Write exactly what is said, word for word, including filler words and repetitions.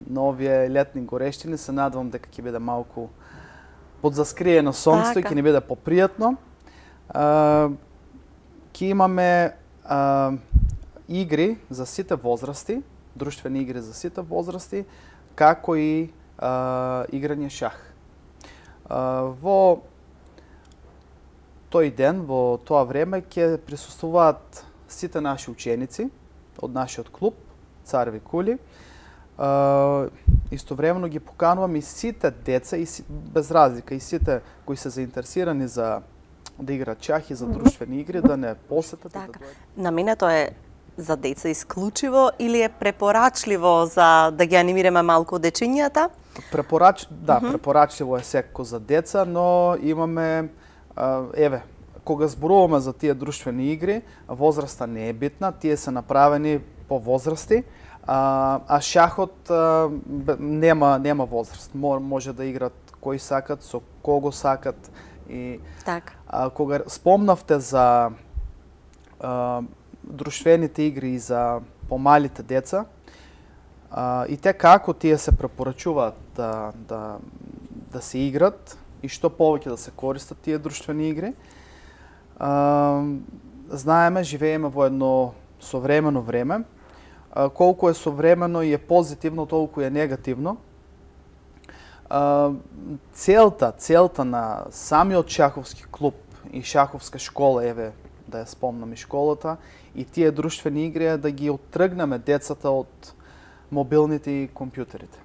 на овие летни горештини. Се надевам дека ќе биде малку подзаскриено сонцето и ќе ни биде попријатно. Ќе имаме а, игри за сите возрасти, друштвени игри за сите возрасти, како и а, играње шах. А, во тој ден, во тоа време, ќе присуствуваат сите наши ученици од нашиот клуб Цареви кули. Uh, истовремено ги поканувам и сите деца, и си, без разлика, и сите кои се заинтересирани за да играат шах и за друштвени игри, да не посетат. Така. Да дојдат. Наменето е за деца исклучиво или е препорачливо за да ги анимираме малку дечињата? Препорач... Да, Mm -hmm. препорачливо е секако за деца, но имаме, uh, еве, кога зборуваме за тие друштвени игри, возраста не е битна, тие се направени по возрасти. А, а шахот а, нема нема возраст. Може да играат кои сакат, со кого сакат и така. А, кога спомнавте за а, друштвените игри и за помалите деца, а, и те како тие се препорачуваат да да да се играт и што повеќе да се користат тие друштвени игри. А, знаеме, живееме во едно современо време. Колку е современо и е позитивно, толку е негативно. Целта, целта на самиот шаховски клуб и шаховска школа, еве, да ја спомнам и школата, и тие друштвени игри е да ги оттргнеме децата од мобилните и компјутерите.